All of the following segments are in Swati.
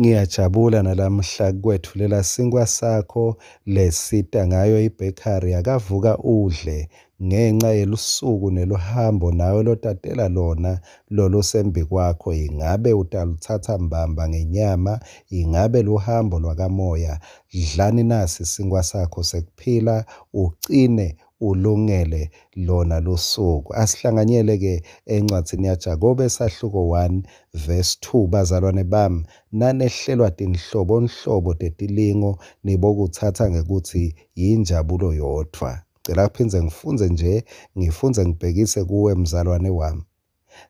Ngiyajabula nalamhla kwetfulela sinkwa sakho lesita ngayo ibhekari yakavuka udle ngenca yelusuku neluhambo nawe lotatela lona lolusembikwakho. Ingabe utalutsatsa mbamba ngenyama? Ingabe luhambo lwakamoya? Dlani nasi sinkwa sakho sekuphila, ucine ulungele lona lusuku. Asihlanganyele ke encwadzini yaJakobe sahluko 1 verse 2. Bazalwane bami, nanehlelwa tinhlobonhlobo tetilingo, nibokutsatsa ngekutsi yinjabulo yodvwa. Cela phindze ngifundze nje, ngifundze ngibhekise kuwe mzalwane wami.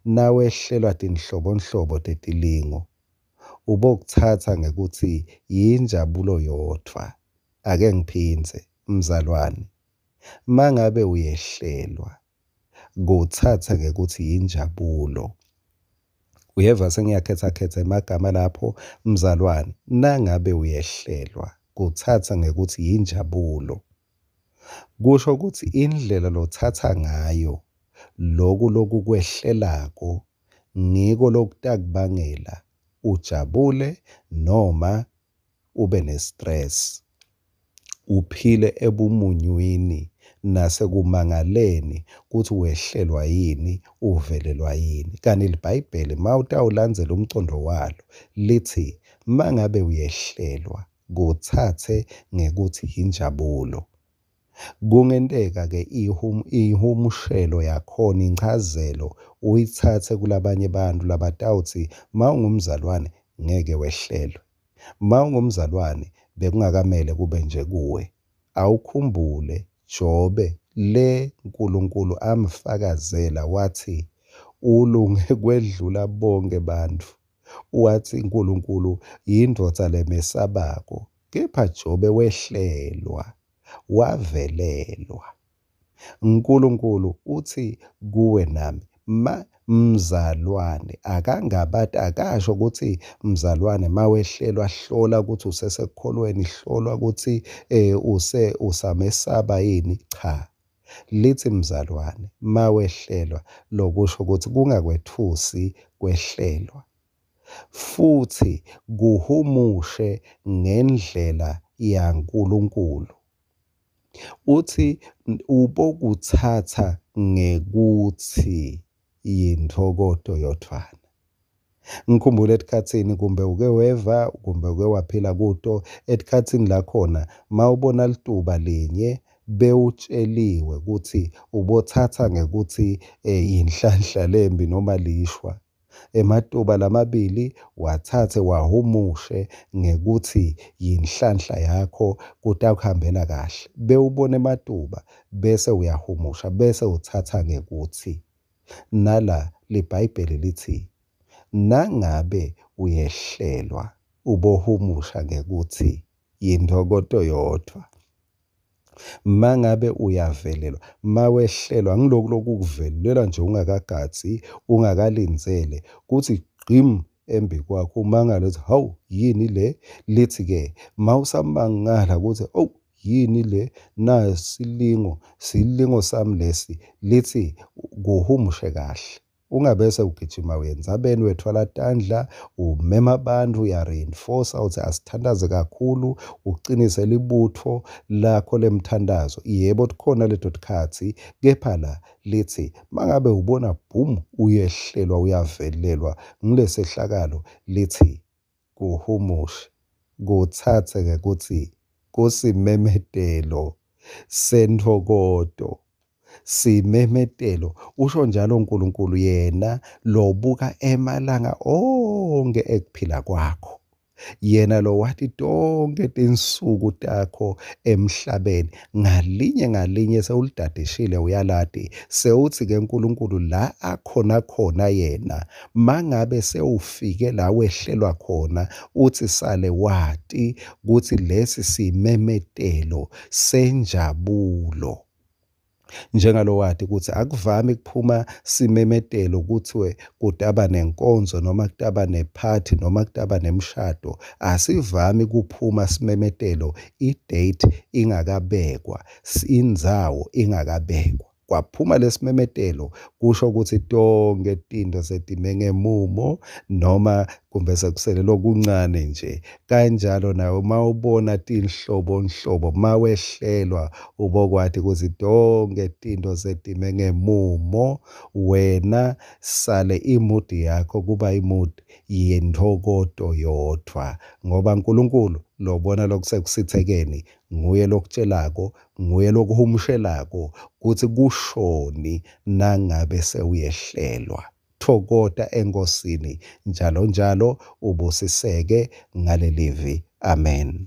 Nawehlelwa tinhlobonhlobo tetilingo, ubokutsatsa ngekutsi yinjabulo yodvwa. Ake ngiphindze, mzalwane, mangabe uyehlelwa, kutsatsa ngekutsi yinjabulo. Uyeva sengiyakhetsa emagama lapho, mzalwane, nangabe uyehlelwa, kutsatsa ngekutsi yinjabulo. Kusho kutsi indlela lotsatsa ngayo loku lokukwehlelako ngiko lokutakubangela ujabule noma ube ne-stress, uphile ebumunyuwini nasekumangaleni kutsi wehlelwa yini, uvelelwa yini. Kanti liBhayibheli mawutawulandzela umcondo walo lithi mangabe uyehlelwa kutsatse ngekutsi injabulo. Kungenteka-ke ihumushelo yakhona, inchazelo uyitsatse kulabanye bantfu labatawutsi mawungumzalwane ngeke wehlelwe, mawungumzalwane bekungakamele kube nje kuwe. Awukhumbule Jobe le Nkulunkulu amfakazela wathi ulunge kwedlula bonke bantfu, wathi Nkulunkulu yindvodza lemesabako, kepha Jobe wehlelwa, wavelelwa. Nkulunkulu utsi kuwe nami, ma mzalwane akangabati, akasho ukuthi mzalwane mawehlelwa hlola ukuthi usesekukholweni, hlolwa ukuthi use usamesaba yini. Cha, lithi mzalwane mawehlelwa, lokusho ukuthi kungakwetfusi kwehlelwa, futhi kuhumushe ngendlela yaNkulunkulu. Uthi ubokutsatsa ngekutsi yintfokoto yodvwana. Ngikhumbule etikhatsini kumbe uke weva kumbe uke waphila kuto etikhatsini lakhona mawubona lituba linye bewutsheliwe kutsi ubotsatsa ngekutsi yinhlanhla lembi noma lishwa. Ematuba lamabili watsatse wahumushe ngekutsi yinhlanhla yakho, kutakuhambela kahle. Bewubona ematuba bese uyahumusha bese utsatsa ngekutsi. Nala liBhayibheli lithi nangabe uyehlelwa ubohumusha ngekutsi yintfokoto yodvwa. Mangabe uyavelelwa, mawehlelwa ngiloku lokukuvelela nje ungakagadzi, ungakalindzele kutsi gqim embikwakho, umangale uthi hawu yini le. Lithi-ke mawusamangala kutsi owu yini le, nasilingo, silingo sami lesi, lithi kuhumushe kahle. Ungabese ugijima uya entsabeni, wethwala tandla, umema abantu, uya-reinforce-a uthi asithandaze kakhulu, ucinise libutfo lakho lemthandazo. Yebo, tikhona leto tikhatsi, kepha la lithi mangabe ubona boom uyehlelwa, uyavelelwa ngilesehlakalo, lithi kuhumushe, kutsatse ngekutsi kusimemetelo sentfokoto. Simemetelo, usho njalo uNkulunkulu yena lobuka emalanga onke ekuphila kwakho, yena lowati tonke tinsuku takho emhlabeni, ngalinye ngalinye sewulidadishile uyalati. Sewuthi-ke uNkulunkulu la akhona khona yena, mangabe sewufike la wehlelwa khona, uthi sale wati kutsi lesi simemetelo senjabulo. Njengalowati kutsi akuvami kuphuma simemetelo kuthiwe kutaba nenkonzo noma kutaba nephathi noma kutaba nemshado. Asivami kuphuma simemetelo i-date ingakabekwa, indzawo ingakabekwa. Kwaphuma lesimemetelo Kusho kutsi tonkhe tintfo setime ngemumo noma kumbe sekusele lokuncane nje. Kanjalo nawe uma ubona tinhlobonhlobo, uma wehlelwa ubokwati kutsi tonkhe tintfo setime ngemumo. Wena sale imudi yakho kuba imudi yentfokoto yodvwa, ngoba Nkulunkulu lobona lokusekusitsekeni nguye lokutshelako, nguye lokuhumushelako kutsi kushoni nangabe sewuyehlelwa. Thokoта eNkosini njalo njalo, ubusiseke ngalelivi. Amen.